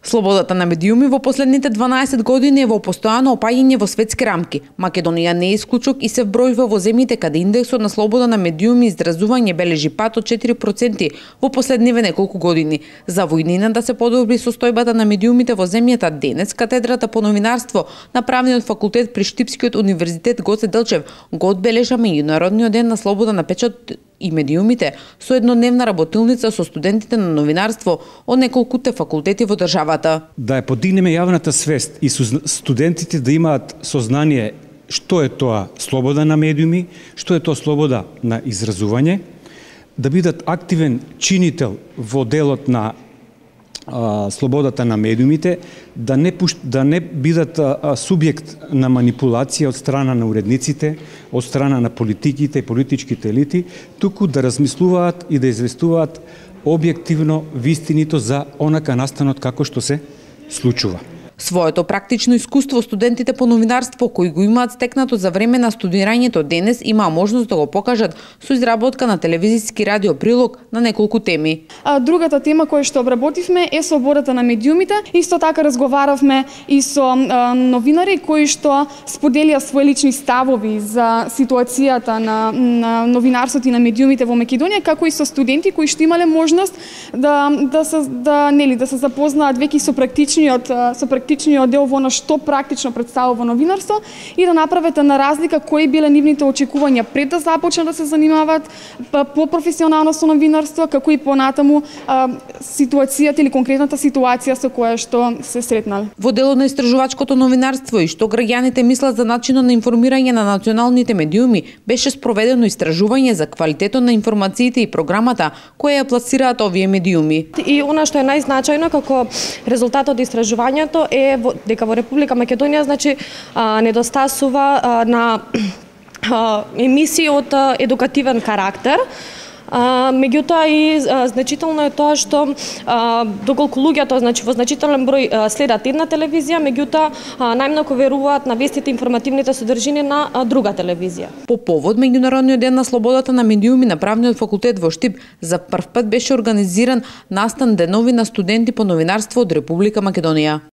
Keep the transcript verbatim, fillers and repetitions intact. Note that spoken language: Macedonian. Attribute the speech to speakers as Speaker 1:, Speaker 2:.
Speaker 1: Слободата на медиуми во последните дванаесет години е во постојано опаѓање во светски рамки. Македонија не е исклучок и се вбројува во земјите каде индексот на слобода на медиуми и изразување бележи пат од четири проценти во последниве неколку години. За војнина да се подобри состојбата на медиумите во земјата, денес катедрата по новинарство на Правниот факултет при Штипскиот универзитет Гоце Делчев го одбележа меѓународниот ден на слобода на печат и медиумите со еднодневна работилница со студентите на новинарство од неколкуте факултети во државата.
Speaker 2: Да ја подигнеме јавната свест и студентите да имаат сознание што е тоа слобода на медиуми, што е тоа слобода на изразување, да бидат активен чинител во делот на а, слободата на медиумите, да не, пуш... да не бидат а, субјект на манипулација од страна на уредниците, од страна на политиките и политичките елити, туку да размислуваат и да известуваат објективно вистинито за онака настанот како што се случува.
Speaker 1: Своето практично искуство студентите по новинарство кои го имаат стекнато за време на студирањето денес имаа можност да го покажат со изработка на телевизиски радио прилог на неколку теми.
Speaker 3: А другата тема која што обработивме е слободата на медиумите. Исто така разговаравме и со а, новинари кои што споделија свои лични ставови за ситуацијата на, на новинарството и на медиумите во Македонија, како и со студенти кои што имале можност да да се да нели да се запознаат веќе со практичниот со практичниот дел во она што практично представува новинарство и да направите на разлика кои биле нивните очекувања пред да започнат да се занимаваат по професионално со новинарство, како и понатаму а, ситуацијата или конкретната ситуација со која што се сретнале.
Speaker 1: Во делот на истражувачкото новинарство и што граѓаните мислат за начинот на информирање на националните медиуми, беше спроведено истражување за квалитетот на информациите и програмата која ја пласираат овие медиуми.
Speaker 4: И она што е најзначајно како резултат од истражувањето е дека во Република Македонија значи а, недостасува а, на а, емисии од а, едукативен карактер. А, меѓутоа и а, значително е тоа што а, доколку луѓето значи во значителен број а, следат една телевизија, меѓутоа а, најмногу веруваат на вестите информативните содржини на а, друга телевизија.
Speaker 1: По повод меѓународниот ден на слободата на медиуми на Правниот факултет во Штип за прв пат беше организиран настан денови на студенти по новинарство од Република Македонија.